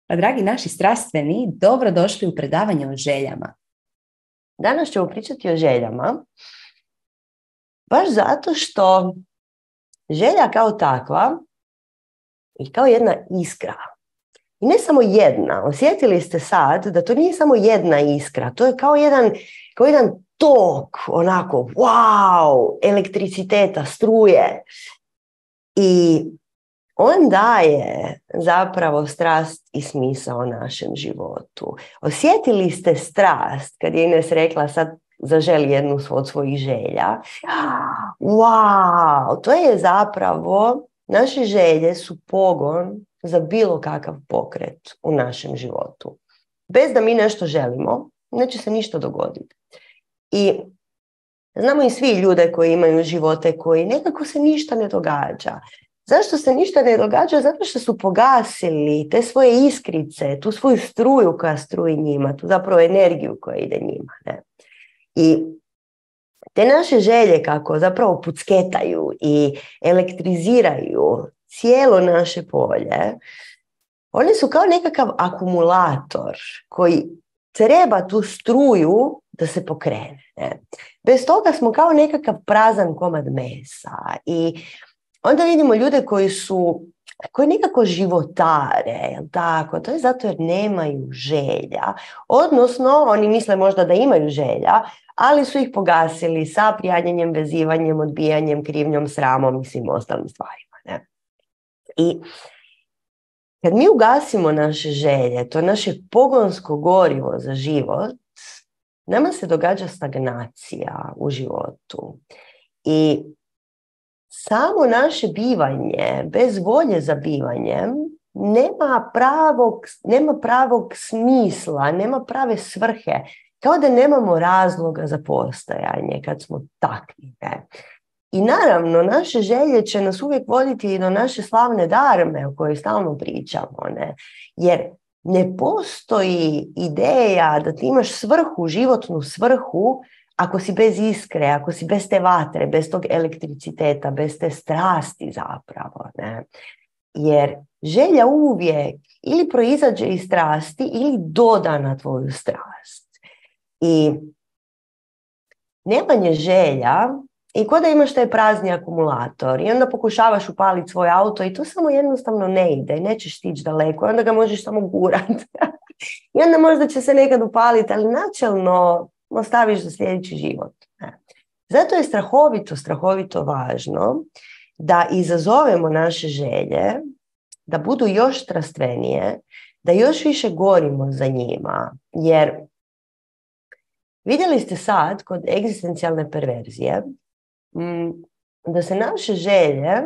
Pa, dragi naši strastveni, dobro došli u predavanje o željama. Danas ćemo pričati o željama, baš zato što želja kao takva je kao jedna iskra. I ne samo jedna. Osjetili ste sad da to nije samo jedna iskra. To je kao jedan tok, onako, wow, elektriciteta, struje. I on daje zapravo strast i smisao našem životu. Osjetili ste strast kad je Ines rekla sad zaželi jednu od svojih želja. Wow, to je zapravo, naše želje su pogon za bilo kakav pokret u našem životu. Bez da mi nešto želimo, neće se ništa dogoditi. I znamo i svi ljude koji imaju živote koji nekako se ništa ne događa. Zašto se ništa ne događa? Zato što su pogasili te svoje iskrice, tu svoju struju koja struji njima, tu zapravo energiju koja ide njima. Ne? I te naše želje kako zapravo pucketaju i elektriziraju cijelo naše polje, one su kao nekakav akumulator koji treba tu struju da se pokrene. Ne? Bez toga smo kao nekakav prazan komad mesa i onda vidimo ljude koji nekako životare, jel tako? To je zato jer nemaju želja. Odnosno, oni misle možda da imaju želja, ali su ih pogasili sa prijanjanjem, vezivanjem, odbijanjem, krivnjom, sramom i svim ostalim stvarima. Ne? I kad mi ugasimo naše želje, to naše pogonsko gorivo za život, nama se događa stagnacija u životu. I samo naše bivanje, bez volje za bivanjem, nema pravog smisla, nema prave svrhe. Kao da nemamo razloga za postojanje kad smo takvi. Ne? I naravno, naše želje će nas uvijek voditi i do naše slavne darme o kojoj stalno pričamo. Ne? Jer ne postoji ideja da ti imaš svrhu, životnu svrhu, ako si bez iskre, ako si bez te vatre, bez tog elektriciteta, bez te strasti zapravo. Ne? Jer želja uvijek ili proizađe iz strasti ili doda na tvoju strast. I nemanje želja i ko da imaš taj prazni akumulator i onda pokušavaš upaliti svoj auto i to samo jednostavno ne ide i nećeš stići daleko i onda ga možeš samo gurati. I onda možda će se nekad upaliti, ali načelno ostaviš za sljedeći život. Zato je strahovito važno da izazovemo naše želje, da budu još strastvenije, da još više gorimo za njima. Jer vidjeli ste sad kod egzistencijalne perverzije da se naše želje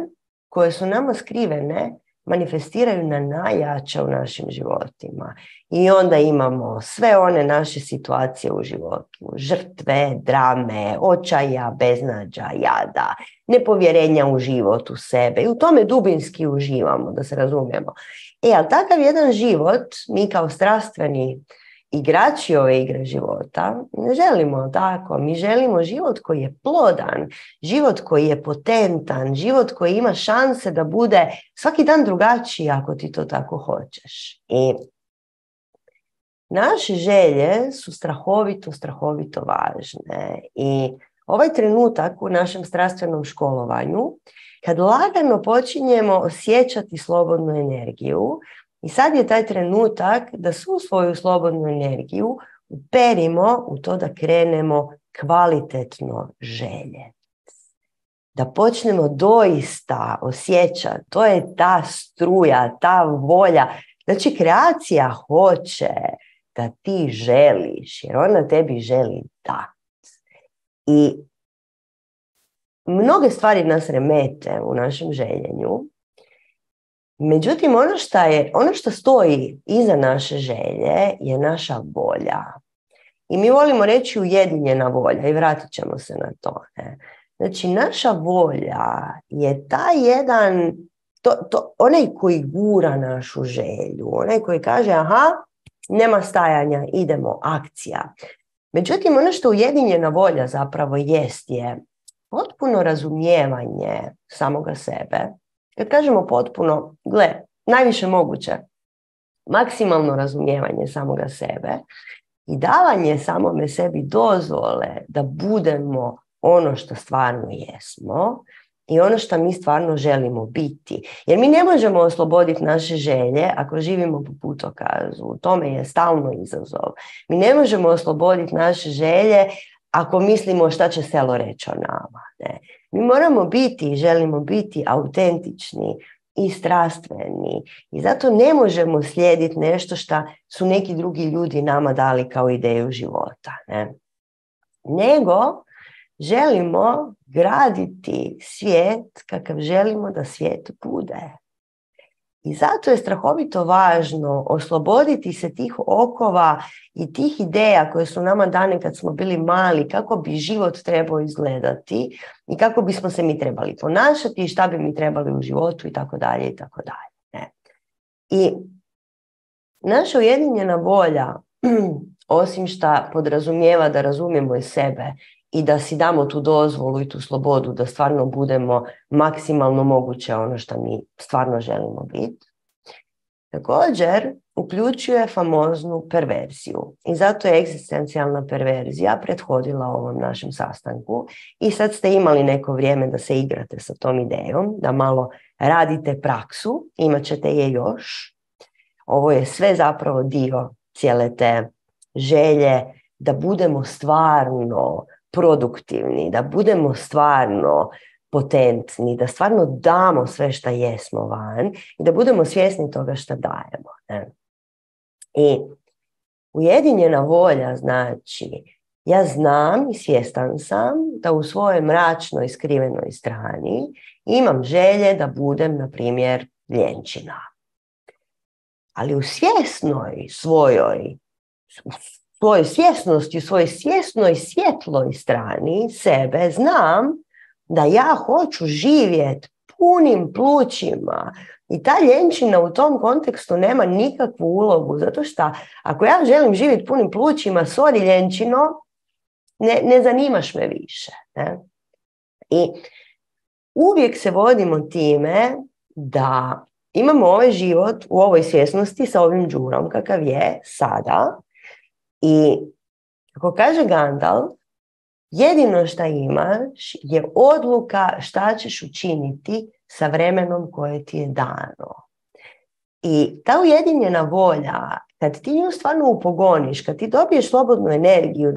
koje su nama skrivene manifestiraju na najjače u našim životima. I onda imamo sve one naše situacije u životu. Žrtve, drame, očaja, beznađa, jada, nepovjerenja u život, u sebe. I u tome dubinski uživamo, da se razumijemo. Ali takav jedan život, mi kao strastveni igrači ove igre života, ne želimo tako. Mi želimo život koji je plodan, život koji je potentan, život koji ima šanse da bude svaki dan drugačiji ako ti to tako hoćeš. I naše želje su strahovito važne. I ovaj trenutak u našem strastvenom školovanju, kad lagano počinjemo osjećati slobodnu energiju, i sad je taj trenutak da svu svoju slobodnu energiju uperimo u to da krenemo kvalitetno želje. Da počnemo doista osjećati, to je ta struja, ta volja. Znači, kreacija hoće da ti želiš, jer ona tebi želi dati. I mnoge stvari nas remete u našem željenju. Međutim, ono što stoji iza naše želje je naša volja. I mi volimo reći ujedinjena volja i vratit ćemo se na to. Ne? Znači, naša volja je taj jedan, onaj koji gura našu želju, onaj koji kaže, aha, nema stajanja, idemo, akcija. Međutim, ono što ujedinjena volja zapravo je potpuno razumijevanje samoga sebe. Kad kažemo potpuno, najviše moguće. maksimalno razumijevanje samoga sebe i davanje samome sebi dozvole da budemo ono što stvarno jesmo i ono što mi stvarno želimo biti. Jer mi ne možemo osloboditi naše želje ako živimo po putokazu. U tome je stalno izazov. Mi ne možemo osloboditi naše želje ako mislimo šta će selo reći o nama. Ne? Mi moramo biti i želimo biti autentični i strastveni. I zato ne možemo slijediti nešto što su neki drugi ljudi nama dali kao ideju života. Ne? Nego želimo graditi svijet kakav želimo da svijet bude. I zato je strahovito važno osloboditi se tih okova i tih ideja koje su nama dane kad smo bili mali, kako bi život trebao izgledati i kako bismo se mi trebali ponašati i šta bi mi trebali u životu i tako dalje i tako dalje. I naša ujedinjena volja, osim što podrazumijeva da razumijemo i sebe i da si damo tu dozvolu i tu slobodu da stvarno budemo maksimalno moguće ono što mi stvarno želimo biti, također uključuje famoznu perverziju. I zato je egzistencijalna perverzija prethodila ovom našem sastanku i sad ste imali neko vrijeme da se igrate sa tom idejom, da malo radite praksu, imat ćete je još. Ovo je sve zapravo dio cijele te želje da budemo stvarno produktivni, da budemo stvarno potentni, da stvarno damo sve što jesmo van i da budemo svjesni toga što dajemo. Ne? I ujedinjena volja znači, ja znam i svjestan sam da u svojoj mračnoj skrivenoj strani imam želje da budem, na primjer, ljenčina. Ali u svjesnoj svojoj svjesnosti, u svojoj svjesnoj svjetloj strani sebe znam da ja hoću živjeti punim plućima i ta ljenčina u tom kontekstu nema nikakvu ulogu, zato što ako ja želim živjeti punim plućima, sorry ljenčino, ne zanimaš me više. Ne? I uvijek se vodimo time da imamo ovaj život u ovoj svjesnosti sa ovim džurom kakav je sada i kako kaže Gandalf, jedino što imaš je odluka šta ćeš učiniti sa vremenom koje ti je dano. I ta ujedinjena volja, kad ti nju stvarno upogoniš, kad ti dobiješ slobodnu energiju,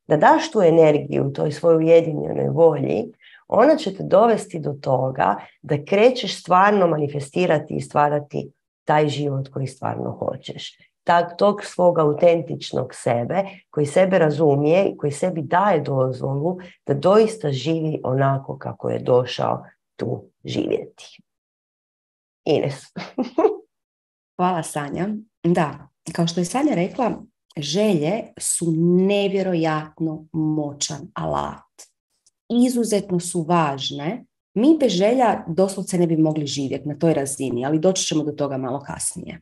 da daš tu energiju toj svojoj ujedinjenoj volji, ona će te dovesti do toga da krećeš stvarno manifestirati i stvarati taj život koji stvarno hoćeš. Tog svog autentičnog sebe, koji sebe razumije i koji sebi daje dozvolu da doista živi onako kako je došao tu živjeti. Ines. Hvala, Sanja. Da, kao što je Sanja rekla, želje su nevjerojatno moćan alat. Izuzetno su važne. Mi bez želja doslovce ne bi mogli živjeti na toj razini, ali doći ćemo do toga malo kasnije.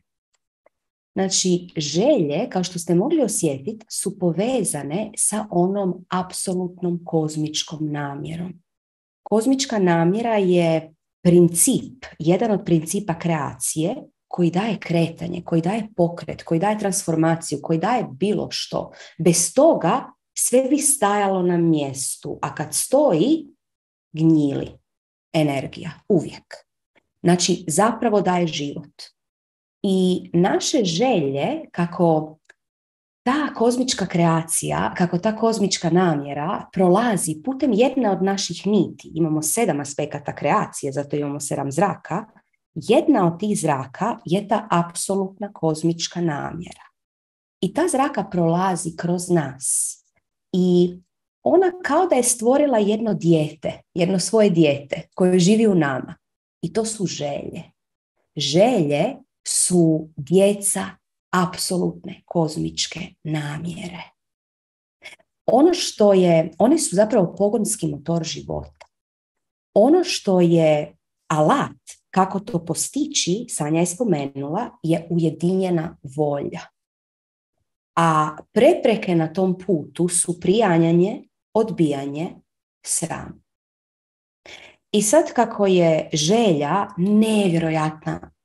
Znači, želje, kao što ste mogli osjetiti, su povezane sa onom apsolutnom kozmičkom namjerom. Kozmička namjera je princip, jedan od principa kreacije koji daje kretanje, koji daje pokret, koji daje transformaciju, koji daje bilo što. Bez toga sve bi stajalo na mjestu, a kad stoji, gnjili energija, uvijek. Znači, zapravo daje život. I naše želje, kako ta kozmička kreacija, kako ta kozmička namjera prolazi putem jedne od naših niti. Imamo 7 aspekata kreacije, zato imamo 7 zraka. Jedna od tih zraka je ta apsolutna kozmička namjera. I ta zraka prolazi kroz nas. I ona kao da je stvorila jedno dijete, jedno svoje dijete koje živi u nama. I to su želje. Želje su djeca apsolutne kozmičke namjere. One su zapravo pogonski motor života. Ono što je alat kako to postići, Sanja je spomenula, je ujedinjena volja. A prepreke na tom putu su prijanjanje, odbijanje, sram. I sad kako je želja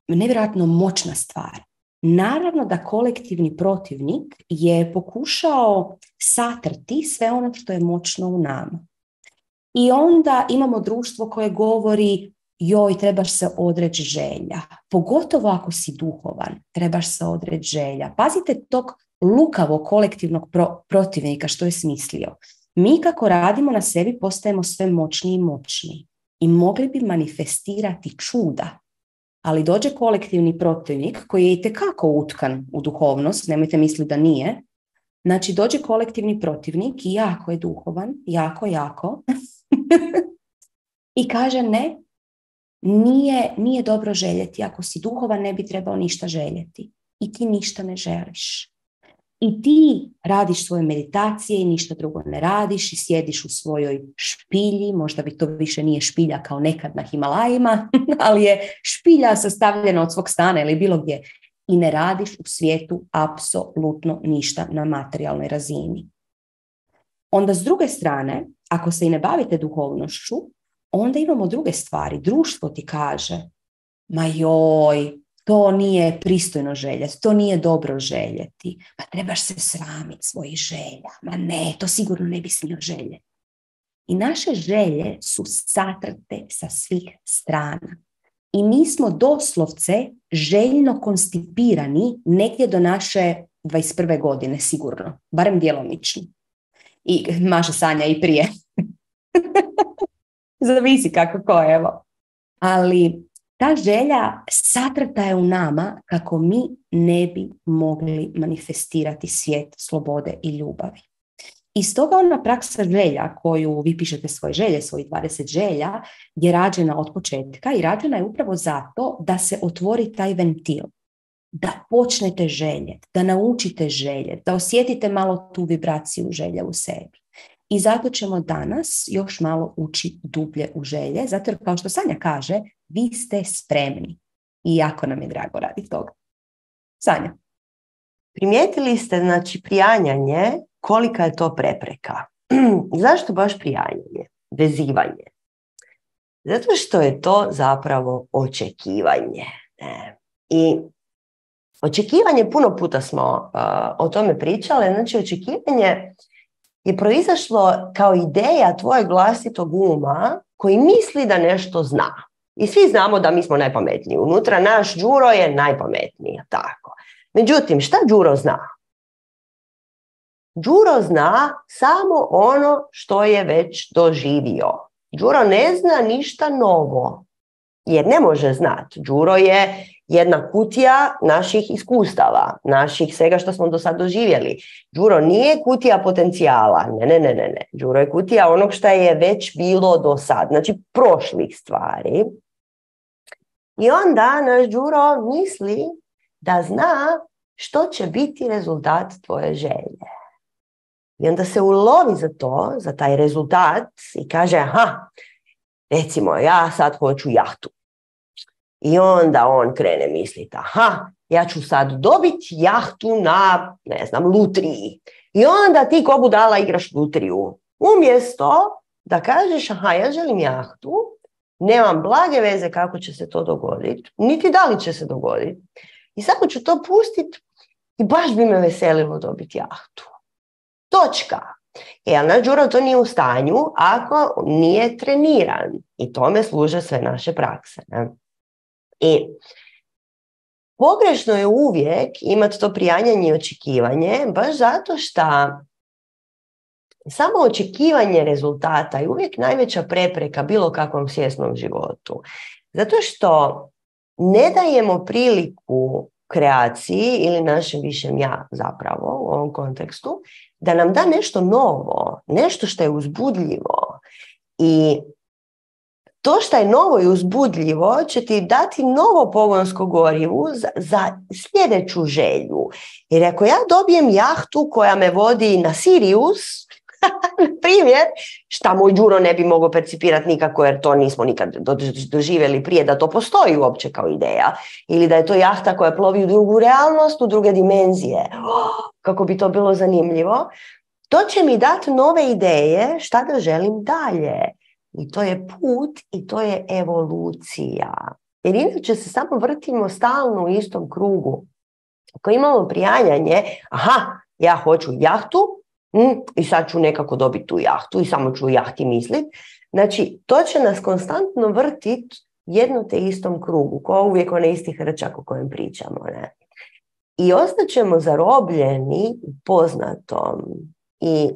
nevjerojatno moćna stvar, naravno da kolektivni protivnik je pokušao satrti sve ono što je moćno u nama. I onda imamo društvo koje govori joj, trebaš se odreći želja. Pogotovo ako si duhovan, trebaš se odreći želja. Pazite tog lukavog kolektivnog protivnika što je smislio. Mi kako radimo na sebi postajemo sve moćniji i moćniji. I mogli bi manifestirati čuda. Ali dođe kolektivni protivnik koji je itekako utkan u duhovnost, nemojte misliti da nije. Znači dođe kolektivni protivnik i jako je duhovan, jako. I kaže ne, nije dobro željeti. Ako si duhovan ne bi trebao ništa željeti. I ti ništa ne želiš. I ti radiš svoje meditacije i ništa drugo ne radiš i sjediš u svojoj špilji, možda bi to više nije špilja kao nekad na Himalajima, ali je špilja sastavljena od svog stana ili bilo gdje. I ne radiš u svijetu apsolutno ništa na materijalnoj razini. Onda s druge strane, ako se i ne bavite duhovnošću, onda imamo druge stvari. Društvo ti kaže, ma joj, to nije pristojno željeti, to nije dobro željeti. Ma trebaš se sramiti svojih želja. Ma ne, to sigurno ne bi smio željeti. I naše želje su satrte sa svih strana. I mi smo doslovce željno konstipirani negdje do naše 21. godine, sigurno. Barem djelomično. I Maša sanja i prije. Zavisi kako ko, evo. Ali ta želja satrta je u nama kako mi ne bi mogli manifestirati svijet slobode i ljubavi. I stoga ona praksa želja koju vi pišete svoje želje, svojih 20 želja, je rađena od početka i rađena je upravo zato da se otvori taj ventil. Da počnete željeti, da naučite željeti, da osjetite malo tu vibraciju želje u sebi. I zato ćemo danas još malo ući dublje u želje, zato jer kao što Sanja kaže, vi ste spremni. I jako nam je drago radi toga. Sanja. Primijetili ste, znači, prijanjanje, kolika je to prepreka. Zašto baš prijanjanje? Vezivanje. Zato što je to zapravo očekivanje. I očekivanje, puno puta smo o tome pričali, znači očekivanje je proizašlo kao ideja tvojeg vlastitog uma koji misli da nešto zna. I svi znamo da mi smo najpametniji. Unutra naš Đuro je najpametniji. Tako. Međutim, šta Đuro zna? Đuro zna samo ono što je već doživio. Đuro ne zna ništa novo. Jer ne može znati. Đuro je jedna kutija naših iskustava, naših svega što smo do sad doživjeli. Đuro nije kutija potencijala. Ne. Đuro je kutija onog što je već bilo do sad. Znači prošlih stvari. I onda naš Đuro misli da zna što će biti rezultat tvoje želje. I onda se ulovi za to, za taj rezultat i kaže, aha, recimo ja sad hoću jahtu. I onda on krene misliti, aha, ja ću sad dobiti jahtu na, ne znam, lutriji. I onda ti ko budala igraš lutriju. Umjesto da kažeš, aha, ja želim jahtu, nemam blage veze kako će se to dogoditi, niti da li će se dogoditi. I samo ću to pustiti i baš bi me veselilo dobiti jahtu. Točka. Jer naš Đuro to nije u stanju ako nije treniran. I tome služe sve naše prakse. Ne? I pogrešno je uvijek imati to prijanjanje i očekivanje, baš zato što samo očekivanje rezultata je uvijek najveća prepreka bilo kakvom svjesnom životu. Zato što ne dajemo priliku kreaciji ili našem višem ja zapravo u ovom kontekstu da nam da nešto novo, nešto što je uzbudljivo. I to što je novo i uzbudljivo će ti dati novo pogonsko gorivo za sljedeću želju. Jer ako ja dobijem jahtu koja me vodi na Sirius, na primjer, šta moj Đuro ne bi mogao percipirati nikako jer to nismo nikad doživjeli prije da to postoji uopće kao ideja. Ili da je to jahta koja plovi u drugu realnost, u druge dimenzije. Kako bi to bilo zanimljivo. To će mi dati nove ideje šta da želim dalje. I to je put i to je evolucija. Jer inače se samo vrtimo stalno u istom krugu. Ako imamo prijanjanje, aha, ja hoću jahtu i sad ću nekako dobiti tu jahtu i samo ću o jahti misliti. Znači, to će nas konstantno vrtiti jedno te istom krugu, ko uvijek onaj isti hrčak o kojem pričamo. Ne? I ostaćemo zarobljeni u poznatom. I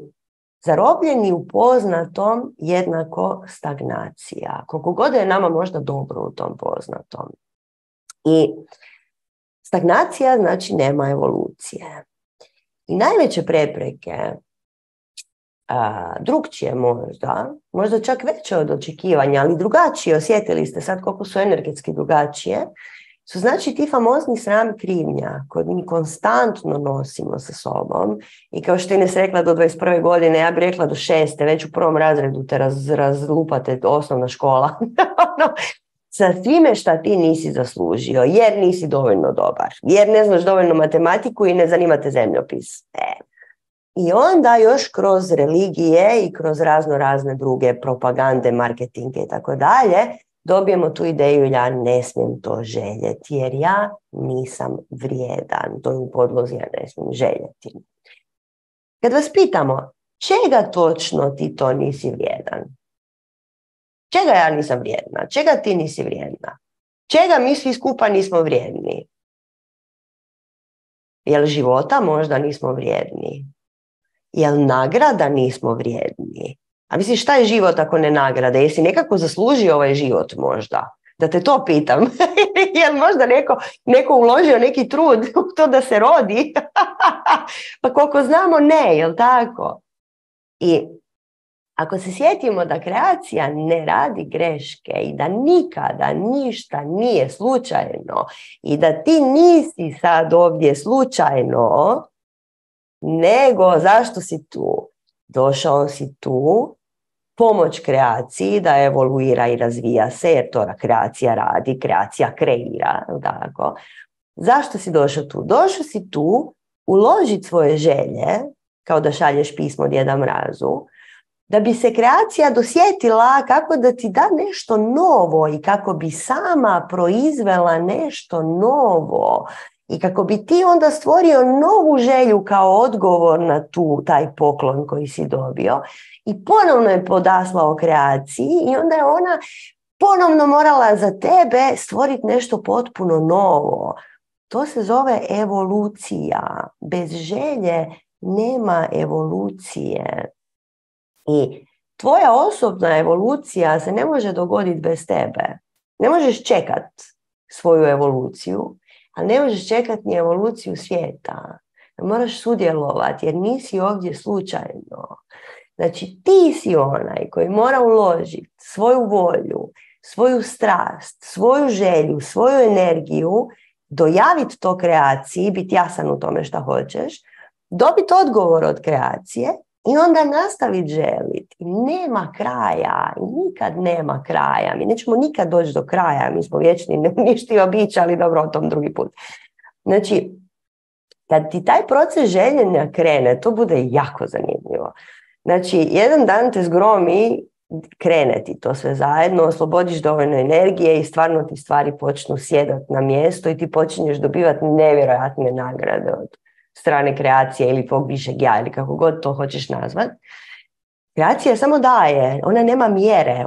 zarobljeni u poznatom jednako stagnacija. Koliko god je nama možda dobro u tom poznatom. I stagnacija znači nema evolucije. I najveće prepreke, drugčije možda čak veće od očekivanja, ali drugačije, osjetili ste sad koliko su energetski drugačije, su znači ti famozni sram i krivnja koje mi konstantno nosimo sa sobom i kao što Ines rekla do 21. godine, ja bih rekla do 6. već u prvom razredu te razlupate osnovna škola. Sa svime šta ti nisi zaslužio, jer nisi dovoljno dobar, jer ne znaš dovoljno matematiku i ne zanimate zemljopis. I onda još kroz religije i kroz razne druge propagande, marketinge i tako dalje, dobijemo tu ideju ja ne smijem to željeti jer ja nisam vrijedan. To je u podlozi ja ne smijem željeti. Kad vas pitamo čega točno ti to nisi vrijedan? Čega ja nisam vrijedna? Čega ti nisi vrijedna? Čega mi svi skupa nismo vrijedni? Jel života možda nismo vrijedni? Jel nagrada nismo vrijedni? A misliš šta je život ako ne nagrada? Jesi nekako zaslužio ovaj život možda? Da te to pitam. Jel možda neko uložio neki trud u to da se rodi? Pa koliko znamo ne, jel tako? I ako se sjetimo da kreacija ne radi greške i da nikada ništa nije slučajno i da ti nisi sad ovdje slučajno, nego zašto si tu? Došao si tu pomoć kreaciji da evoluira i razvija se, jer to kreacija radi, kreacija kreira. Tako. Zašto si došao tu? Došao si tu uložiti svoje želje, kao da šalješ pismo Djeda Mrazu, da bi se kreacija dosjetila kako da ti da nešto novo i kako bi sama proizvela nešto novo i kako bi ti onda stvorio novu želju kao odgovor na taj poklon koji si dobio i ponovno je podaslao kreaciji i onda je ona ponovno morala za tebe stvoriti nešto potpuno novo. To se zove evolucija. Bez želje nema evolucije. I tvoja osobna evolucija se ne može dogoditi bez tebe. Ne možeš čekat svoju evoluciju, ali ne možeš čekat ni evoluciju svijeta. Moraš sudjelovati jer nisi ovdje slučajno. Znači ti si onaj koji mora uložiti svoju volju, svoju strast, svoju želju, svoju energiju, dojaviti to kreaciji, biti jasan u tome šta hoćeš, dobiti odgovor od kreacije i onda nastaviti želiti. Nema kraja, nikad nema kraja. Mi nećemo nikad doći do kraja, mi smo vječni neuništivi bića, ali dobro, o tom drugi put. Znači, kad ti taj proces željenja krene, to bude jako zanimljivo. Znači, jedan dan te zgromi, krene ti to sve zajedno, oslobodiš dovoljno energije i stvarno ti stvari počnu sjedati na mjesto i ti počinješ dobivati nevjerojatne nagrade od strane kreacije ili tvog višeg ja ili kako god to hoćeš nazvat. Kreacija samo daje, ona nema mjere,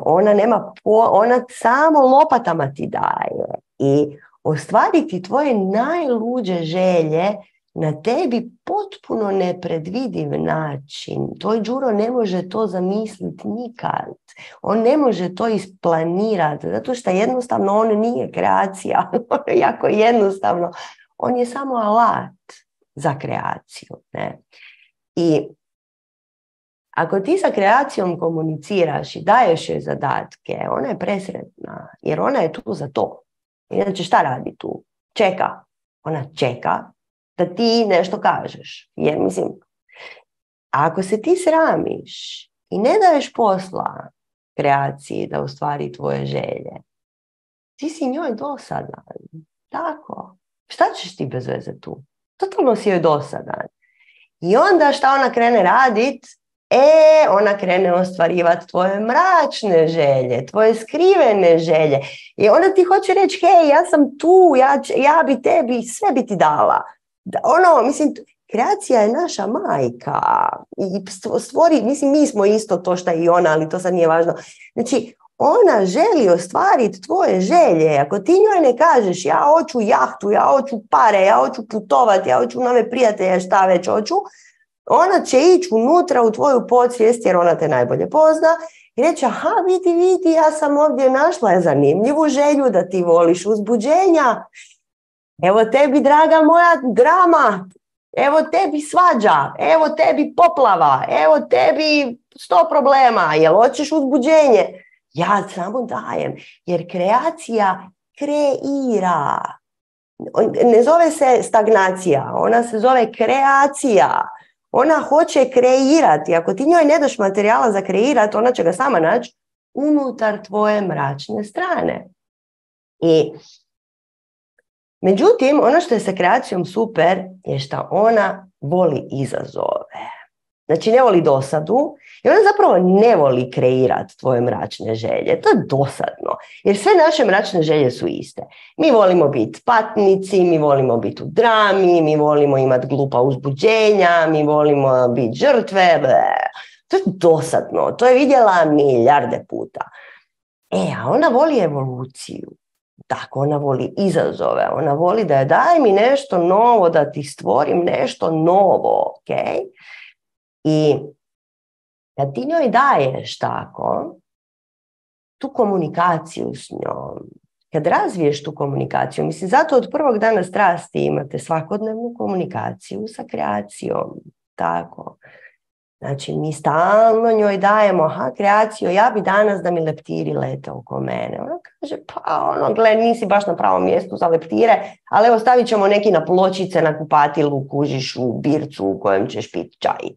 ona samo lopatama ti daje i ostvariti tvoje najluđe želje na tebi potpuno nepredvidiv način. Tvoj Đuro ne može to zamisliti nikad. On ne može to isplanirati, zato što jednostavno on nije kreacija. Jako jednostavno. On je samo alat za kreaciju. Ne? I ako ti sa kreacijom komuniciraš i daješ joj zadatke, ona je presretna, jer ona je tu za to. Inače šta radi tu? Čeka. Ona čeka da ti nešto kažeš. Jer mislim, ako se ti sramiš i ne daješ posla kreaciji da ostvari tvoje želje, ti si njoj dosadan. Tako. Šta ćeš ti bez veze tu? Totalno si joj dosadan. I onda šta ona krene radit? Ona krene ostvarivati tvoje mračne želje, tvoje skrivene želje. I onda ti hoće reći, hej, ja sam tu, ja bi tebi, sve bi ti dala. Mislim, kreacija je naša majka i stvori, mislim, mi smo isto to što i ona, ali to sad nije važno. Znači, ona želi ostvariti tvoje želje. Ako ti njoj ne kažeš ja hoću jahtu, ja hoću pare, ja hoću putovati, ja hoću nove prijatelje, šta već hoću, ona će ići unutra u tvoju podsvijest jer ona te najbolje pozna i reći, aha, vidi, ja sam ovdje našla zanimljivu želju da ti voliš uzbuđenja. Evo tebi, draga moja, drama. Evo tebi svađa. Evo tebi poplava. Evo tebi 100 problema. Jel hoćeš uzbuđenje? Ja samo dajem. Jer kreacija kreira. Ne zove se stagnacija. Ona se zove kreacija. Ona hoće kreirati. Ako ti njoj ne daš materijala za kreirati, ona će ga sama naći unutar tvoje mračne strane. I međutim, ono što je sa kreacijom super je što ona voli izazove. Znači, ne voli dosadu i ona zapravo ne voli kreirati tvoje mračne želje. To je dosadno, jer sve naše mračne želje su iste. Mi volimo biti patnici, mi volimo biti u drami, mi volimo imati glupa uzbuđenja, mi volimo biti žrtve. To je dosadno, to je vidjela milijarde puta. A ona voli evoluciju. Tako, ona voli izazove, ona voli da je daj mi nešto novo, da ti stvorim nešto novo, ok? I kad ti njoj daješ tako, tu komunikaciju s njom, kad razviješ tu komunikaciju, mislim, zato od prvog dana strasti imate svakodnevnu komunikaciju sa kreacijom, tako. Znači, mi stalno njoj dajemo, kreaciju, ja bi danas da mi leptiri lete oko mene. Ona kaže, gle, nisi baš na pravom mjestu za leptire, ali evo stavit ćemo neki na pločice na kupatilu, kužiš u bircu u kojem ćeš piti čaj.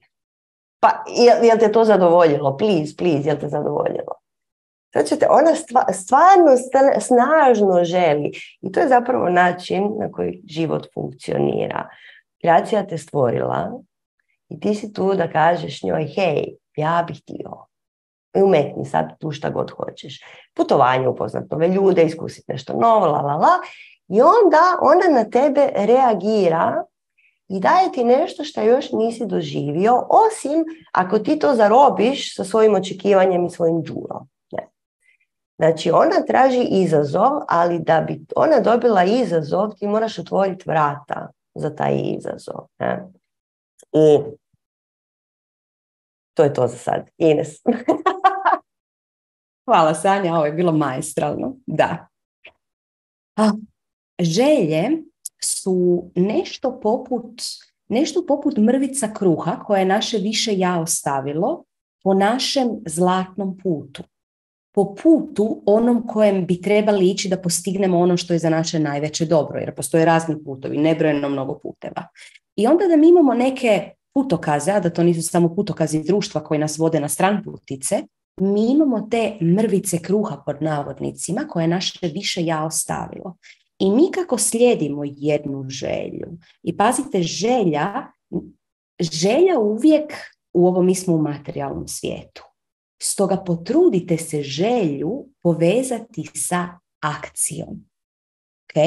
Pa, jel te to zadovoljilo? Please, jel te zadovoljilo? Znači, ona stvarno snažno želi. I to je zapravo način na koji život funkcionira. Kreacija te stvorila, i ti si tu da kažeš njoj, hej, ja bih htio. I umetni sad tu šta god hoćeš. Putovanje, upoznat nove ljude, iskusiti nešto novo, I onda ona na tebe reagira i daje ti nešto što još nisi doživio, osim ako ti to zarobiš sa svojim očekivanjem i svojim džurom. Znači, ona traži izazov, ali da bi ona dobila izazov, ti moraš otvoriti vrata za taj izazov. Ne? I to je to za sad. Ines. Hvala, Sanja, ovo je bilo maestralno. Da. Želje su nešto poput mrvica kruha koje je naše više ja ostavilo po našem zlatnom putu. Po putu onom kojem bi trebali ići da postignemo ono što je za naše najveće dobro, jer postoje razni putovi, nebrojeno mnogo puteva. I onda da mi imamo neke putokaze, a da to nisu samo putokazi društva koji nas vode na stranputice, mi imamo te mrvice kruha pod navodnicima koje naše više ja ostavilo. I mi kako slijedimo jednu želju, i pazite, želja uvijek, u ovom mi smo u materijalnom svijetu. Stoga potrudite se želju povezati sa akcijom. Ok?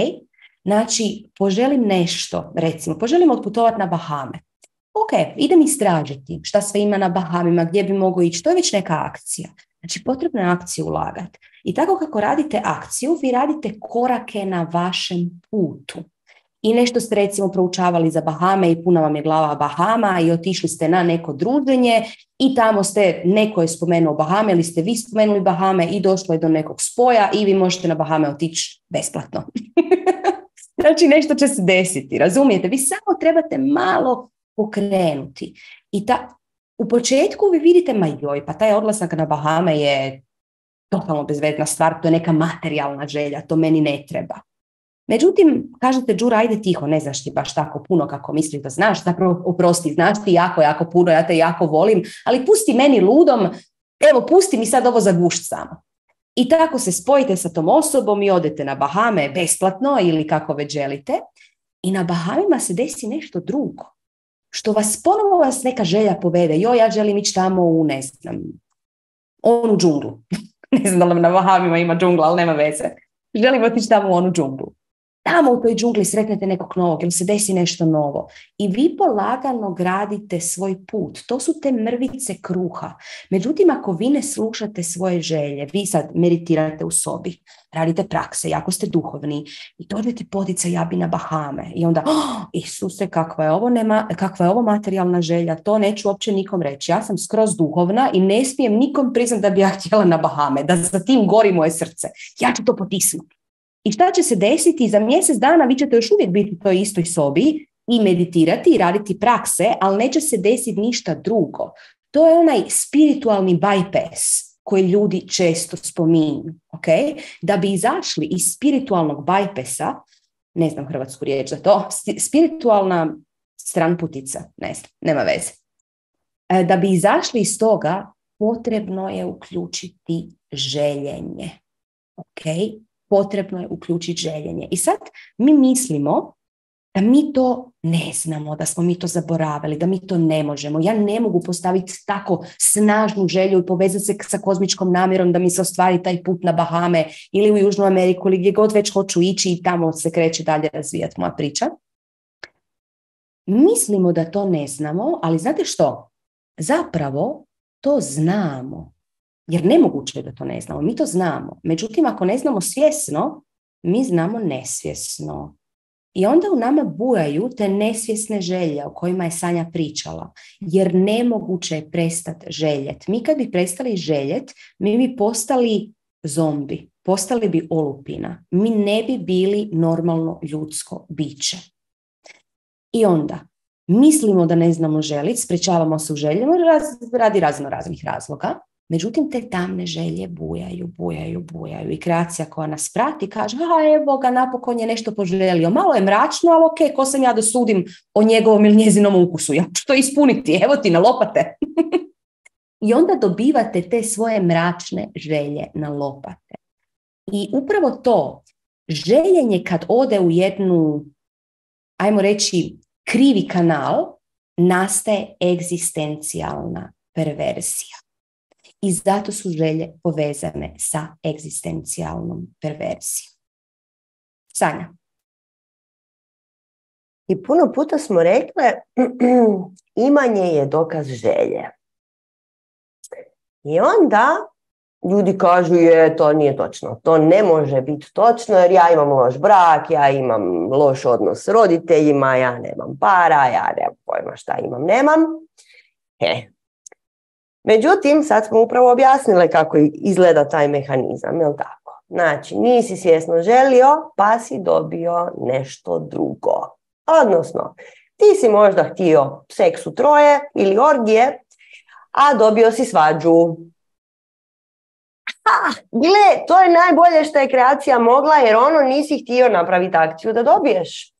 Znači, poželim nešto, recimo, poželim otputovati na Bahame. Ok, idem istražiti šta sve ima na Bahamima, gdje bi mogao ići, to je već neka akcija. Znači, potrebno je akciju ulagati. I tako kako radite akciju, vi radite korake na vašem putu. I nešto ste recimo proučavali za Bahame i puna vam je glava Bahama i otišli ste na neko druženje i tamo neko je spomenuo Bahame ili ste vi spomenuli Bahame i došlo je do nekog spoja i vi možete na Bahame otići besplatno. Znači, nešto će se desiti, razumijete? Vi samo trebate malo pokrenuti. I u početku vi vidite, pa taj odlazak na Bahame je totalno bezvezna stvar, to je neka materijalna želja, to meni ne treba. Međutim, kažete, Đura, ajde tiho, ne znaš ti baš tako puno kako misliš da znaš, zapravo oprosti, znaš ti jako puno, ja te jako volim, ali pusti meni ludom, evo pusti mi sad ovo za gušt samo. I tako se spojite sa tom osobom i odete na Bahame besplatno ili kako već želite i na Bahamima se desi nešto drugo, što ponovo vas neka želja povede, ja želim ići tamo u, ne znam, onu džunglu. Ne znam da li na Bahamima ima džungla, ali nema veze. Želim otići tamo u onu džunglu. tamo u toj džungli sretnete nekog novog ili se desi nešto novo. I vi polagano gradite svoj put. To su te mrvice kruha. Međutim, ako vi ne slušate svoje želje, vi sad meditirate u sobi, radite prakse, jako ste duhovni i dođete potica ja bi na Bahame. I onda, Isuse, kakva je ovo materijalna želja, to neću uopće nikom reći. Ja sam skroz duhovna i ne smijem nikom priznati da bi ja htjela na Bahame, da za tim gori moje srce. Ja ću to potisnuti. I šta će se desiti? Za mjesec dana vi ćete još uvijek biti u toj istoj sobi i meditirati i raditi prakse, ali neće se desiti ništa drugo. To je onaj spiritualni bypass koji ljudi često spominju. Okay? Da bi izašli iz spiritualnog bypassa, ne znam hrvatsku riječ za to, spiritualna stranputica, ne znam, nema veze. Da bi izašli iz toga, potrebno je uključiti željenje. Okay? Potrebno je uključiti željenje. I sad mi mislimo da mi to ne znamo, da smo mi to zaboravili, da mi to ne možemo. Ja ne mogu postaviti tako snažnu želju i povezati se sa kozmičkom namjerom da mi se ostvari taj put na Bahame ili u Južnu Ameriku ili gdje god već hoću ići i tamo se kreće dalje razvijati moja priča. Mislimo da to ne znamo, ali znate što? Zapravo to znamo. Jer nemoguće je da to ne znamo. Mi to znamo. Međutim, ako ne znamo svjesno, mi znamo nesvjesno. I onda u nama bujaju te nesvjesne želje o kojima je Sanja pričala. Jer nemoguće je prestati željet. Mi kad bi prestali željet, mi bi postali zombi. Postali bi olupina. Mi ne bi bili normalno ljudsko biće. I onda mislimo da ne znamo željeti, sprečavamo se u željama radi raznih razloga. Međutim, te tamne želje bujaju i kreacija koja nas prati kaže, evo ga, napokon je nešto poželio. Malo je mračno, ali ok, ko sam ja da sudim o njegovom ili njezinom ukusu? Ja ću to ispuniti, evo ti na lopate. I onda dobivate te svoje mračne želje na lopate. I upravo to, željenje kad ode u jednu, ajmo reći, krivi kanal, nastaje egzistencijalna perverzija. I zato su želje povezane sa egzistencijalnom perverzijom. Sanja. I puno puta smo rekle, imanje je dokaz želje. I onda ljudi kažu, to nije točno. To ne može biti točno jer ja imam loš brak, ja imam loš odnos s roditeljima, ja nemam para, ja nemam pojma šta nemam. Međutim, sad smo upravo objasnile kako izgleda taj mehanizam, jel tako? Znači, nisi svjesno želio, pa si dobio nešto drugo. Odnosno, ti si možda htio seks u troje ili orgije, a dobio si svađu. Gle, to je najbolje što je kreacija mogla, jer nisi htio napraviti akciju da dobiješ.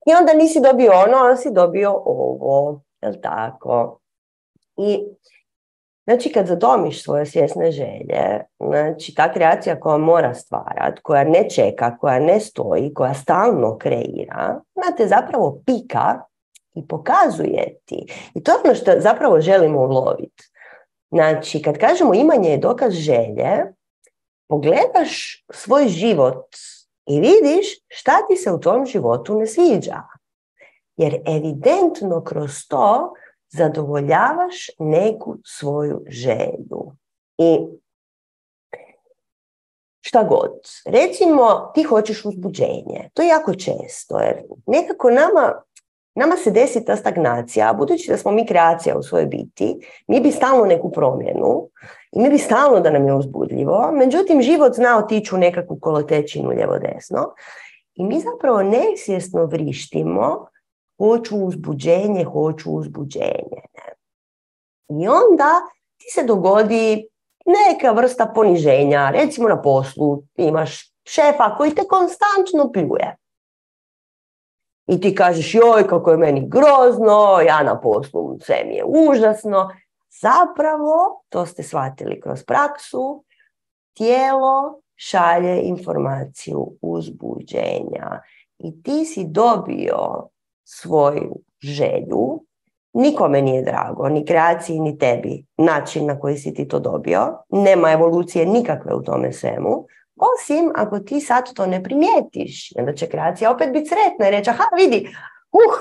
I onda nisi dobio ali si dobio ovo, jel tako? I znači, kad zadomiš svoje svjesne želje, znači ta kreacija koja mora stvarati, koja ne čeka, koja ne stoji, koja stalno kreira, te zapravo pika i pokazuje ti. I to je ono što zapravo želimo uloviti. Znači, kad kažemo imanje je dokaz želje, pogledaš svoj život i vidiš šta ti se u tom životu ne sviđa. Jer evidentno kroz to zadovoljavaš neku svoju želju. I šta god. Recimo, ti hoćeš uzbuđenje. To je jako često, jer nekako nama se desi ta stagnacija, a budući da smo mi kreacija u svojoj biti, mi bi stalno neku promjenu i mi bi stalno da nam je uzbudljivo, međutim život zna otići u nekakvu kolotečinu lijevo-desno i mi zapravo nesvjesno vrištimo hoću uzbuđenje. I onda ti se dogodi neka vrsta poniženja, recimo na poslu imaš šefa koji te konstantno pljuje. I ti kažeš, joj, kako je meni grozno, ja na poslu, sve mi je užasno. Zapravo, to ste shvatili kroz praksu, tijelo šalje informaciju uzbuđenja. I ti si dobio svoju želju, nikome nije drago, ni kreaciji, ni tebi, način na koji si ti to dobio. Nema evolucije nikakve u tome svemu. Osim ako ti sad to ne primijetiš, onda će kreacija opet biti sretna i reći, aha, vidi,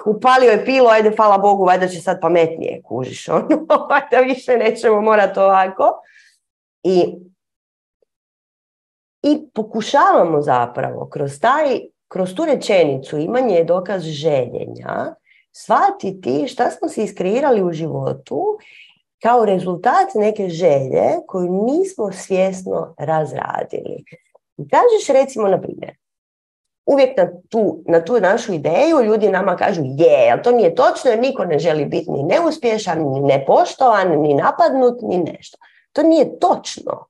upalio je pilu, ajde, hvala Bogu, valjda će sad pametnije, kužiš, valjda više nećemo morati ovako. I pokušavamo zapravo kroz tu rečenicu imanje je dokaz željenja, shvatiti šta smo si iskreirali u životu kao rezultat neke želje koju nismo svjesno razradili. I kažeš, recimo, na primjer, uvijek na tu našu ideju ljudi nama kažu ali to nije točno jer niko ne želi biti ni neuspješan, ni nepoštovan, ni napadnut, ni nešto. To nije točno.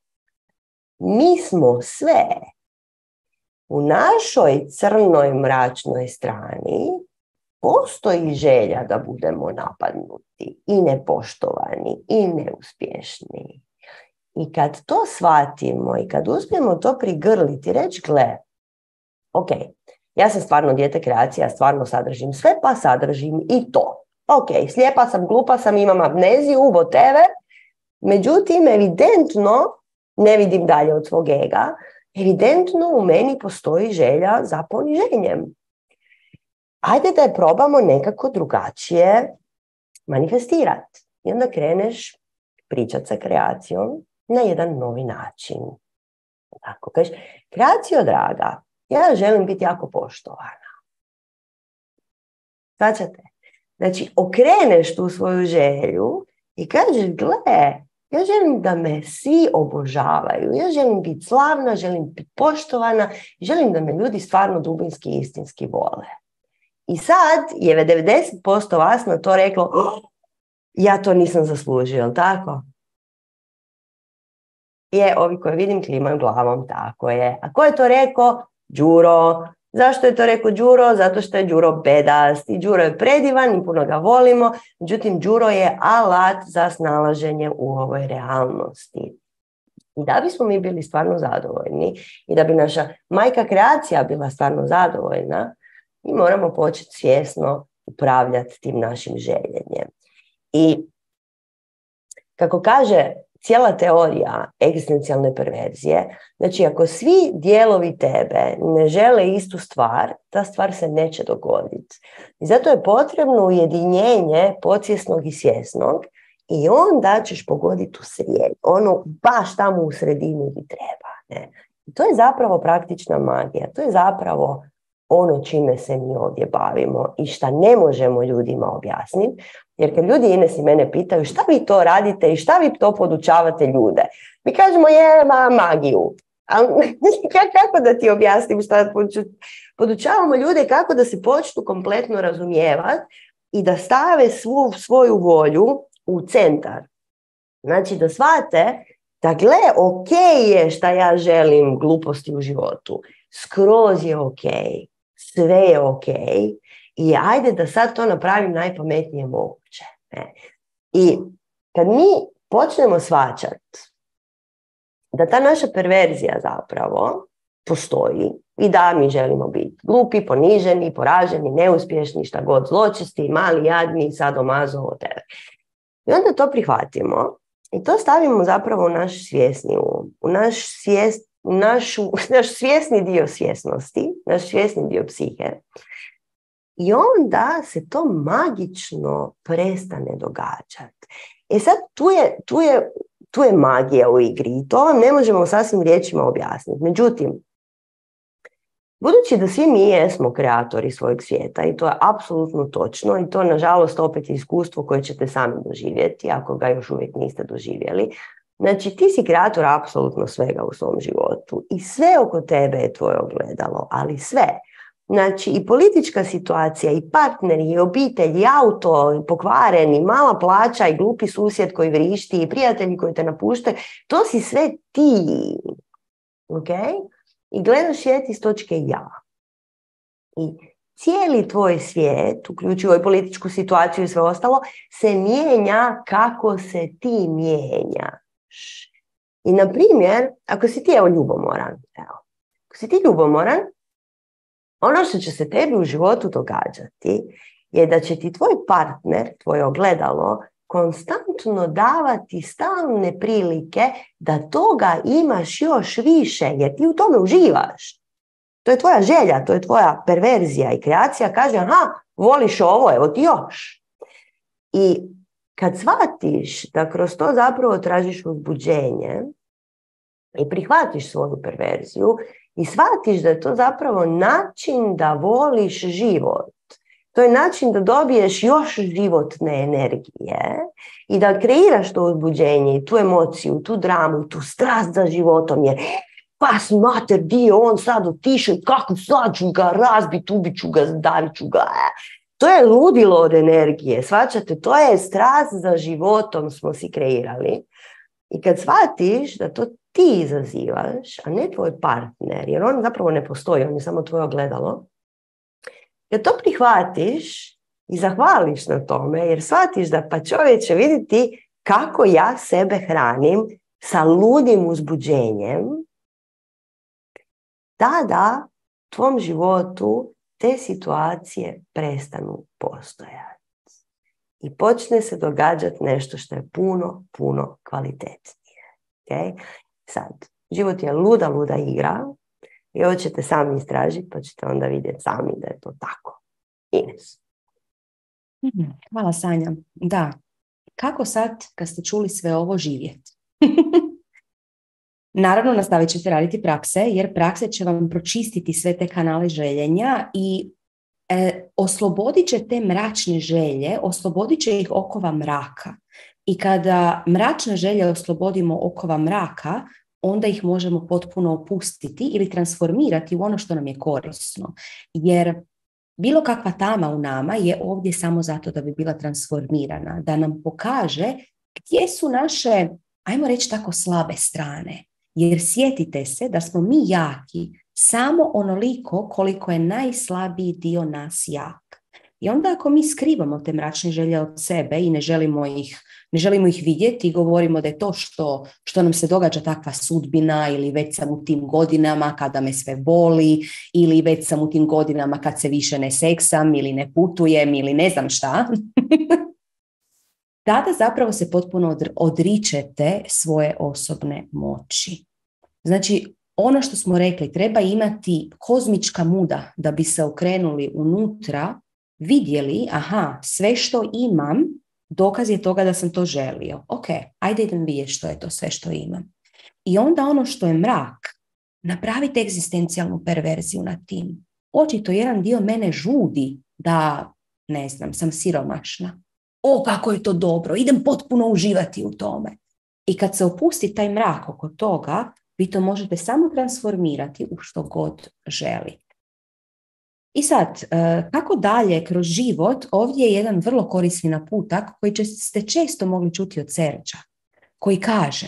Mi smo sve. U našoj crnoj, mračnoj strani postoji želja da budemo napadnuti i nepoštovani i neuspješni. I kad to shvatimo i kad uspijemo to prigrliti, reći, gle, ok, ja sam stvarno dijete kreacije, ja stvarno sadržim sve, pa sadržim i to. Ok, slijepa sam, glupa sam, imam amneziju, whatever. Međutim, evidentno, ne vidim dalje od svog ega, evidentno u meni postoji želja za poniženjem. Ajde da je probamo nekako drugačije manifestirati. I onda kreneš pričati sa kreacijom na jedan novi način. Tako kažeš, kreacijo draga, ja želim biti jako poštovana. Svačate? Znači, okreneš tu svoju želju i kažeš, gle, ja želim da me svi obožavaju, ja želim biti slavna, želim biti poštovana, želim da me ljudi stvarno dubinski i istinski vole. I sad je 90% vas na to reklo, ja to nisam zaslužio, jel tako? Ovi koji vidim klimaju glavom, tako je. A ko je to rekao? Đuro. Zašto je to rekao Đuro? Zato što je Đuro bedast i Đuro je predivan i puno ga volimo, međutim Đuro je alat za snalaženje u ovoj realnosti. I da bismo mi bili stvarno zadovoljni i da bi naša majka kreacija bila stvarno zadovoljna, mi moramo početi svjesno upravljati tim našim željenjem. I kako kaže cijela teorija egzistencijalne perverzije, znači ako svi dijelovi tebe ne žele istu stvar, ta stvar se neće dogoditi. I zato je potrebno ujedinjenje podsvjesnog i svjesnog i onda ćeš pogoditi u srijedinu, ono baš tamo u sredini gdje treba. Ne? I to je zapravo praktična magija, to je zapravo ono čime se mi ovdje bavimo i šta ne možemo ljudima objasniti. Jer kad ljudi Ines i mene pitaju šta vi to radite i šta vi to podučavate ljude, mi kažemo magiju. Kako da ti objasnim šta podučavamo ljude, kako da se počnu kompletno razumijevati i da stave svu svoju volju u centar. Znači da shvate da gle, ok je šta ja želim gluposti u životu. Skroz je ok. Sve je ok. I ajde da sad to napravim najpametnije moguće. Ne? I kad mi počnemo shvaćati da ta naša perverzija zapravo postoji i da mi želimo biti glupi, poniženi, poraženi, neuspješni, šta god, zločesti, mali, jadni, sadomazo, whatever. I onda to prihvatimo i to stavimo zapravo u naš svjesni um, u naš svjesni dio svjesnosti, naš svjesni dio psihe. I onda se to magično prestane događati. Sad tu je magija u igri i to vam ne možemo sasvim riječima objasniti. Međutim, budući da svi mi jesmo kreatori svojeg svijeta i to je apsolutno točno i to nažalost opet je iskustvo koje ćete sami doživjeti ako ga još uvijek niste doživjeli. Znači ti si kreator apsolutno svega u svom životu i sve oko tebe je tvoje ogledalo, ali sve. Znači i politička situacija, i partneri, i obitelj, i auto, i pokvaren, i mala plaća, i glupi susjed koji vrišti, i prijatelji koji te napuštaju, to si sve ti. Ok? I gledaš svijet iz točke ja. I cijeli tvoj svijet, uključujući i političku situaciju i sve ostalo, se mijenja kako se ti mijenjaš. I na primjer, ako si ti ljubomoran, ako si ti ljubomoran, ono što će se tebi u životu događati je da će ti tvoj partner, tvoje ogledalo, konstantno konstantno davati stalne prilike da toga imaš još više, jer ti u tome uživaš. To je tvoja želja, to je tvoja perverzija i kreacija kaže, aha, voliš ovo, evo ti još. I kad shvatiš da kroz to zapravo tražiš uzbuđenje i prihvatiš svoju perverziju i shvatiš da je to zapravo način da voliš život, to je način da dobiješ još životne energije i da kreiraš to uzbuđenje i tu emociju, tu dramu, tu strast za životom, jer pas mater, di je on sad otišao i kako sad ću ga razbit, ubit ću ga, davit ću ga. To je ludilo od energije, shvaćate, to je strast za životom smo si kreirali. I kad shvatiš da to ti izazivaš, a ne tvoj partner, jer on zapravo ne postoji, on je samo tvoje ogledalo, kad to prihvatiš i zahvališ na tome, jer shvatiš da pa čovječe vidjeti kako ja sebe hranim sa ludim uzbuđenjem, tada u tvom životu te situacije prestanu postojati. I počne se događati nešto što je puno, puno kvalitetnije. Okay? Sad, život je luda igra i ovo ćete sami istražiti, pa ćete onda vidjeti sami da je to tako. Ines. Hvala, Sanja. Da, kako sad, kad ste čuli sve ovo, živjeti? Naravno, nastavit ćete raditi prakse, jer prakse će vam pročistiti sve te kanale željenja i oslobodit će te mračne želje, oslobodit će ih okova mraka. I kada mračne želje oslobodimo okova mraka, onda ih možemo potpuno opustiti ili transformirati u ono što nam je korisno. Jer bilo kakva tama u nama je ovdje samo zato da bi bila transformirana, da nam pokaže gdje su naše, ajmo reći tako, slabe strane. Jer sjetite se da smo mi jaki samo onoliko koliko je najslabiji dio nas jak. I onda ako mi skrivamo te mračne želje od sebe i ne želimo ih vidjeti i govorimo da je to što nam se događa takva sudbina, ili već sam u tim godinama kada me sve boli, ili već sam u tim godinama kad se više ne seksam ili ne putujem ili ne znam šta, tada zapravo se potpuno odričete svoje osobne moći. Znači, ono što smo rekli, treba imati kozmička muda da bi se okrenuli unutra, vidjeli, aha, sve što imam, dokaz je toga da sam to želio. Ok, ajde idem vidjeti što je to sve što imam. I onda ono što je mrak, napravite egzistencijalnu perverziju nad tim. Očito jedan dio mene žudi da, ne znam, sam siromašna. O, kako je to dobro, idem potpuno uživati u tome. I kad se opusti taj mrak oko toga, vi to možete samo transformirati u što god želite. I sad, kako dalje kroz život, ovdje je jedan vrlo korisni naputak koji ste često mogli čuti od Serđa, koji kaže: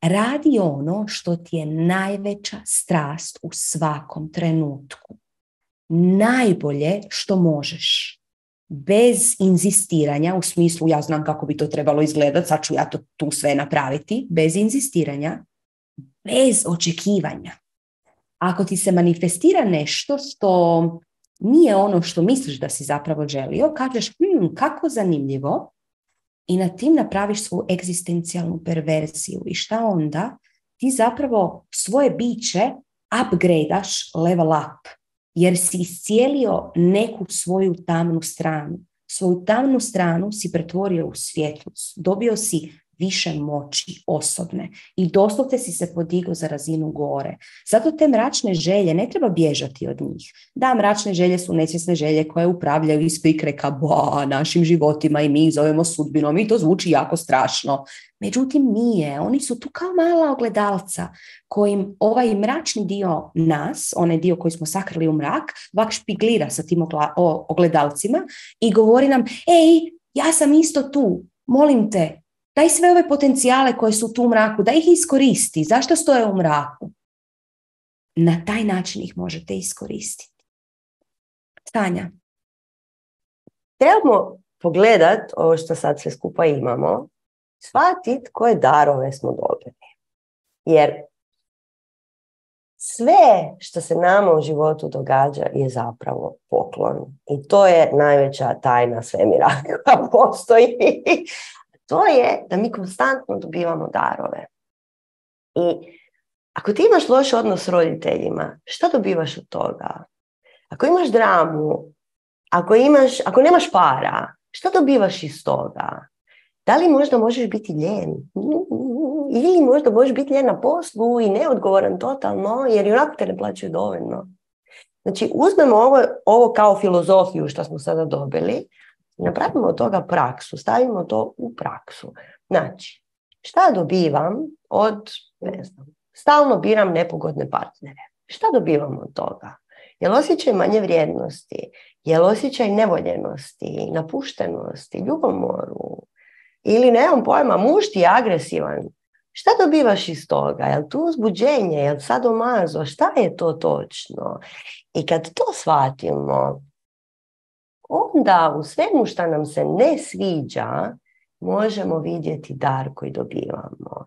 radi ono što ti je najveća strast u svakom trenutku. Najbolje što možeš. Bez inzistiranja, u smislu ja znam kako bi to trebalo izgledati, sad ću ja to tu sve napraviti, bez inzistiranja, bez očekivanja. Ako ti se manifestira nešto što nije ono što misliš da si zapravo želio, kažeš, kako zanimljivo, i na tim napraviš svoju egzistencijalnu perverziju. I šta onda? Ti zapravo svoje biće upgradeaš, level up, jer si iscijelio neku svoju tamnu stranu. Svoju tamnu stranu si pretvorio u svjetlost. Dobio si više moći osobne i doslovce si se podigao za razinu gore. Zato te mračne želje ne treba bježati od njih. Da, mračne želje su nesvjesne želje koje upravljaju iz prikreka našim životima i mi ih zovemo sudbinom i to zvuči jako strašno. Međutim, nije. Oni su tu kao mala ogledalca kojim ovaj mračni dio nas, onaj dio koji smo sakrili u mrak, vak špiglira sa tim ogledalcima i govori nam, ej, ja sam isto tu, molim te, daj sve ove potencijale koje su tu u mraku, da ih iskoristi. Zašto stoje u mraku? Na taj način ih možete iskoristiti. Sanja. Trebamo pogledati ovo što sad sve skupa imamo, shvatiti koje darove smo dobili. Jer sve što se nama u životu događa je zapravo poklon. I to je najveća tajna svemira koja postoji. To je da mi konstantno dobivamo darove. I ako ti imaš loš odnos s roditeljima, šta dobivaš od toga? Ako imaš dramu, ako nemaš para, šta dobivaš iz toga? Da li možda možeš biti lijen? Ili možda možeš biti lijen na poslu i neodgovoran totalno, jer i onako te ne plaćaju dovoljno. Znači, uzmemo ovo kao filozofiju što smo sada dobili i napravimo od toga praksu, stavimo to u praksu. Znači, šta dobivam od, stalno biram nepogodne partnere. Šta dobivam od toga? Jel osjećaj manje vrijednosti? Jel osjećaj nevoljenosti, napuštenosti, ljubomoru? Ili nemam pojma, muž ti je agresivan? Šta dobivaš iz toga? Jel tu uzbuđenje? Jel sadomazo? Šta je to točno? I kad to shvatimo, onda u svemu što nam se ne sviđa možemo vidjeti dar koji dobivamo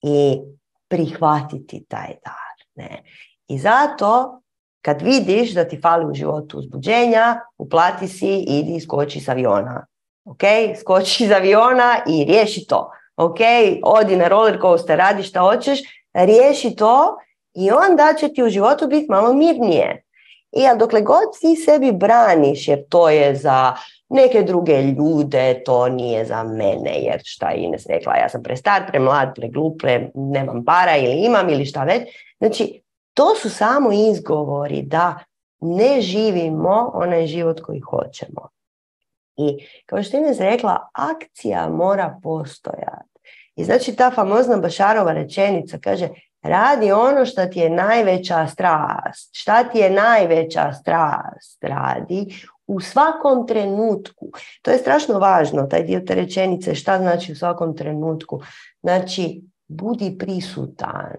i prihvatiti taj dar. Ne? I zato kad vidiš da ti fali u životu uzbuđenja, uplati si, idi, skoči s aviona. Ok, skoči iz aviona i riješi to. Ok, odi na roller coaster, radi šta hoćeš, riješi to i onda će ti u životu biti malo mirnije. I dokle god ti sebi braniš, jer to je za neke druge ljude, to nije za mene, jer šta je Ines rekla, ja sam prestar, premlad, preglup, nemam para ili imam ili šta već. Znači, to su samo izgovori da ne živimo onaj život koji hoćemo. I kao što je Ines rekla, akcija mora postojati. I znači ta famozna Bašarova rečenica kaže, radi ono što ti je najveća strast. Šta ti je najveća strast? Radi u svakom trenutku. To je strašno važno, taj dio te rečenice, šta znači u svakom trenutku. Znači, budi prisutan.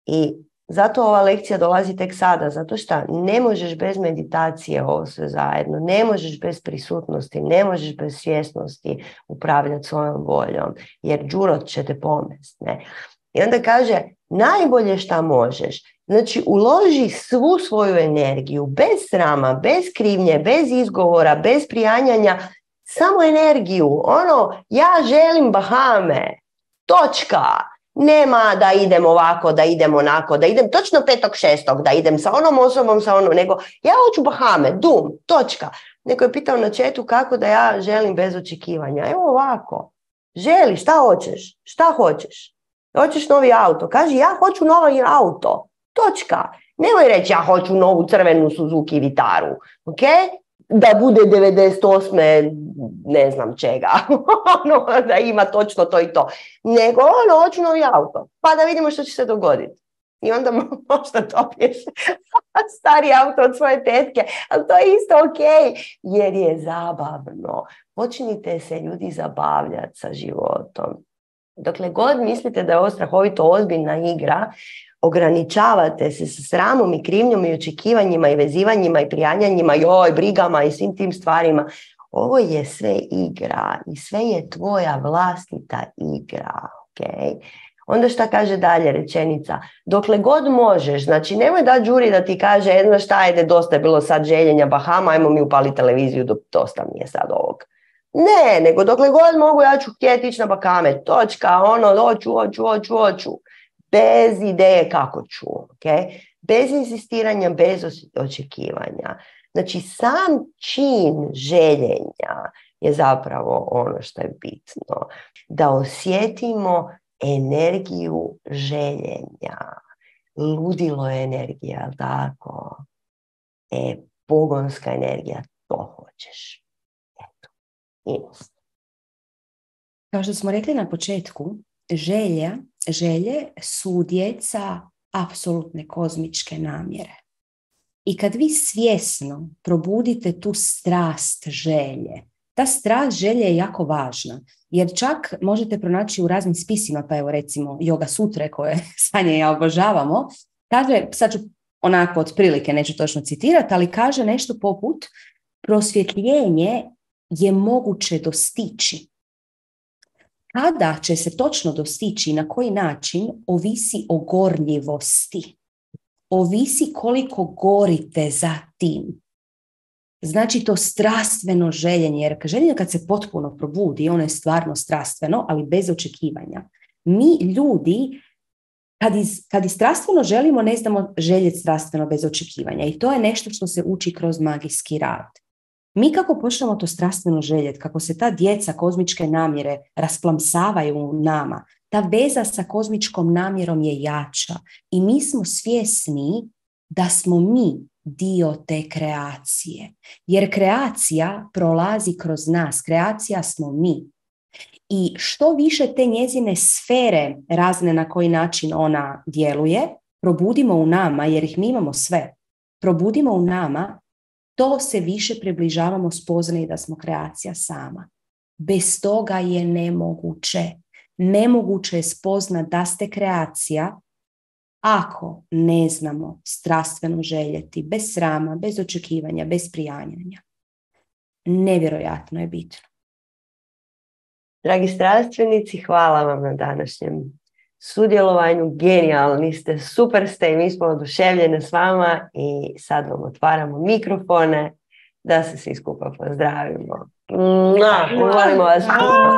I zato ova lekcija dolazi tek sada, zato što ne možeš bez meditacije ovo sve zajedno, ne možeš bez prisutnosti, ne možeš bez svjesnosti upravljati svojom voljom, jer đurot će te pomest. Ne? I onda kaže, najbolje šta možeš, znači uloži svu svoju energiju, bez srama, bez krivnje, bez izgovora, bez prijanjanja, samo energiju, ja želim Bahame, točka. Nema da idem ovako, da idem onako, da idem točno 5.6. da idem sa onom osobom, nego ja hoću Bahame, točka. Neko je pitao na chatu kako da ja želim bez očekivanja. Evo ovako, želi, šta hoćeš? Šta hoćeš? Hoćeš novi auto? Kaži, ja hoću novi auto, točka. Nemoj reći, ja hoću novu crvenu Suzuki Vitaru, ok? Da bude 98. ne znam čega, da ima točno to i to. Nego, hoću novi auto, pa da vidimo što će se dogoditi. I onda možda dobiješ stari auto od svoje tetke, ali to je isto ok, jer je zabavno. Počnite se ljudi zabavljati sa životom. Dokle god mislite da je ovo strahovito ozbiljna igra, ograničavate se sa sramom i krivnjom i očekivanjima i vezivanjima i prijanjanjima, brigama i svim tim stvarima. Ovo je sve igra i sve je tvoja vlastita igra. Okay? Onda šta kaže dalje rečenica? Dokle god možeš, znači nemoj da đuri da ti kaže, znaš šta, ajde, dosta je bilo sad željenja Bahama, ajmo mi upali televiziju, dosta mi je sad ovog. Ne, nego dokle god mogu, ja ću htjeti ići na Bahame, točka, hoću. Bez ideje kako ću, okay? Bez insistiranja, bez očekivanja. Znači, sam čin željenja je zapravo ono što je bitno. Da osjetimo energiju željenja. Ludilo je energija, tako? Pogonska energija, to hoćeš. Eto. Kao što smo rekli na početku, želje su djeca apsolutne kozmičke namjere. I kad vi svjesno probudite tu strast želje, ta strast želje je jako važna, jer čak možete pronaći u raznim spisima, pa evo recimo Yoga Sutre koje Sanja i ja obožavamo, kaže, sad ću onako otprilike, neću točno citirati, ali kaže nešto poput prosvjetljenje je moguće dostići. Kada će se točno dostići i na koji način, ovisi o gorljivosti. Ovisi koliko gorite za tim. Znači to strastveno željenje, jer željenje kad se potpuno probudi, ono je stvarno strastveno, ali bez očekivanja. Mi ljudi, kad i strastveno želimo, ne znamo željeti strastveno bez očekivanja. I to je nešto što se uči kroz magijski rad. Mi kako počnemo to strastveno željeti, kako se ta djeca kozmičke namjere rasplamsavaju u nama, ta veza sa kozmičkom namjerom je jača. I mi smo svjesni da smo mi dio te kreacije. Jer kreacija prolazi kroz nas. Kreacija smo mi. I što više te njezine sfere razne na koji način ona djeluje, probudimo u nama, jer ih mi imamo sve, probudimo u nama, to se više približavamo spoznaji da smo kreacija sama. Bez toga je nemoguće. Nemoguće je spoznat da ste kreacija ako ne znamo strastveno željeti, bez srama, bez očekivanja, bez prijanjanja. Nevjerojatno je bitno. Dragi strastvenici, hvala vam na današnjem sudjelovanju. Genijalni ste, super ste i mi smo oduševljene s vama i sad vam otvaramo mikrofone da se svi skupa pozdravimo. Volimo vas. Pozdrav!